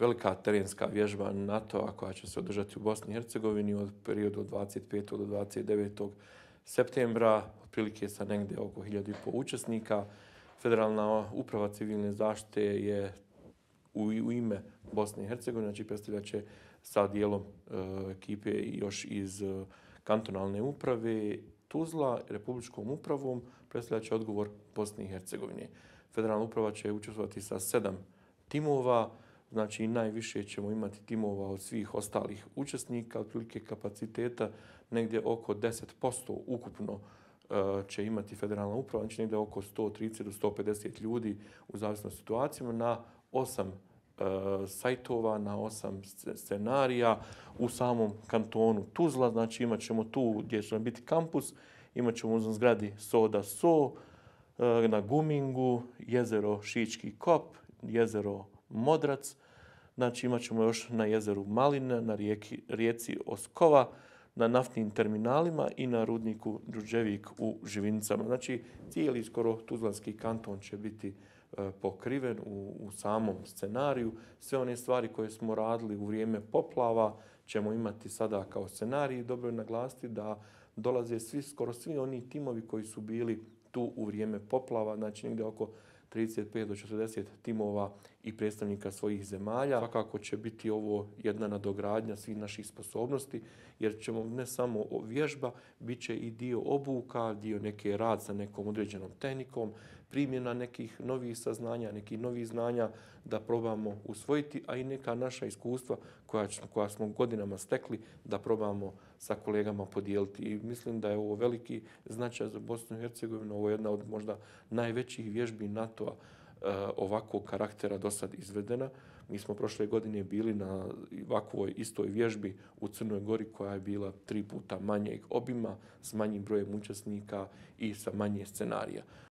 velika terenska vježba NATO-a koja će se održati u Bosni i Hercegovini od periodu od 25. do 29. septembra, otprilike sa negdje oko 1.500 učesnika. Federalna uprava civilne zaštite je u ime Bosne i Hercegovine, znači predstavljat će sa dijelom ekipe još iz kantonalne uprave Tuzla, republičkom upravom, predstavljat će odgovor Bosne i Hercegovine. Federalna uprava će učestvovati sa 7 timova, znači najviše ćemo imati timova od svih ostalih učesnika, otprilike kapaciteta negdje oko 10% ukupno će imati federalna uprava, znači negdje oko 130 do 150 ljudi u zavisnosti situacijama na 8 sajtova, na 8 scenarija u samom kantonu Tuzla. Znači imat ćemo tu gdje će biti kampus, imat ćemo u zgradi Soda So, na Gumingu, jezero Šički Kop, jezero Modrac, znači imat ćemo još na jezeru Maline, na rijeci Oskova, na naftnim terminalima i na rudniku Đurđevik u Živinicama. Znači cijeli skoro tuzlanski kanton će biti pokriven u samom scenariju. Sve one stvari koje smo radili u vrijeme poplava ćemo imati sada kao scenarij. Dobro je naglasiti da dolaze skoro svi oni timovi koji su bili tu u vrijeme poplava, znači negdje oko 35 do 40 timova i predstavnika svojih zemalja. Svakako će biti ovo jedna nadogradnja svih naših sposobnosti, jer ćemo ne samo vježba, bit će i dio obuka, dio neke rad sa nekom određenom tehnikom, primjena nekih novih saznanja, nekih novih znanja da probamo usvojiti, a i neka naša iskustva koja smo godinama stekli da probamo sa kolegama podijeliti. I mislim da je ovo veliki značaj za Bosnu i Hercegovinu. Ovo je jedna od možda najvećih vježbi NATO-a ovakvog karaktera do sad izvedena. Mi smo prošle godine bili na ovakvoj istoj vježbi u Crnoj Gori koja je bila 3 puta manjeg obima, s manjim brojem učesnika i sa manje scenarija.